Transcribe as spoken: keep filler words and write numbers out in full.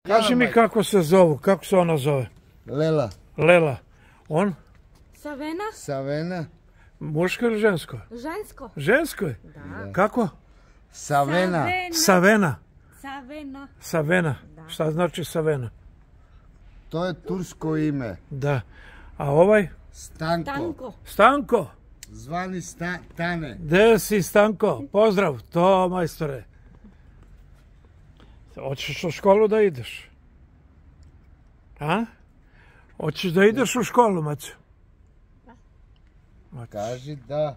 Kaži mi kako se zovu, kako se ona zove? Lela. Lela. On? Savena? Savena. Muško ili žensko? Žensko. Žensko je? Da. Kako? Savena. Savena. Savena. Savena. Šta znači Savena? To je tursko ime. Da. A ovaj? Stanko. Tanko. Stanko. Zvani sta, Tane. Gde si Stanko? Pozdrav. To majstore. Hoćeš u školu da ideš? A? Hoćeš da ideš u školu, Maćo? Kaži da.